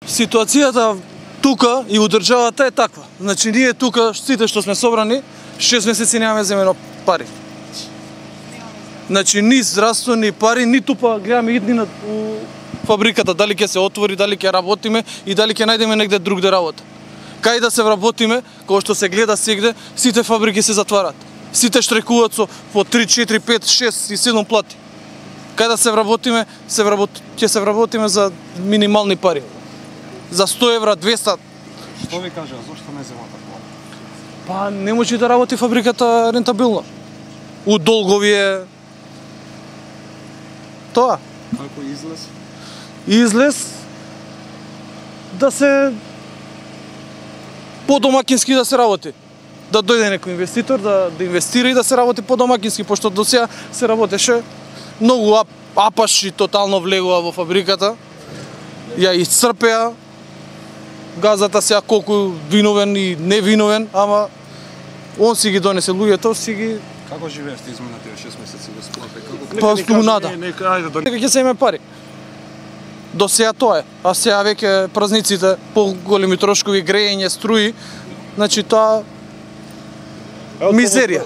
Ситуацијата тука и у државата е таква. Значи ние тука сите што сме собрани 6 месеци немаме земено пари. Значи ни здравство, ни пари, ниту па гледаме иднина у фабриката дали ќе се отвори, дали ќе работиме и дали ќе најдеме негде другде работа. Кај да се вработиме, кога што се гледа сегде, сите фабрики се затварат. Сите штрекуваат со по 3, 4, 5, 6 и 7 плати. Кај да се вработиме, ќе се вработиме за минимални пари. За 100 евра, 200. Што ви кажа, зошто не земате плата? Па не може да работи фабриката рентабилно. У долгови е тоа. Како излез? Излез да се подомакински да се работи. Да дојде некој инвеститор, да инвестира и да се работи подомакински, пошто до сега се работеше многу апаши тотално влегува во фабриката. Ја исцрпеа газата сега колку виновен и невиновен, ама он си ги донесе луѓето, си ги. Како живеевте изминатите 6 месеци господе? Па стунада. Ајде Нека ќе се име пари. До сега тоа е, а сега веќе празниците, поголеми трошкови, грејење, струи, значи тоа мизерија.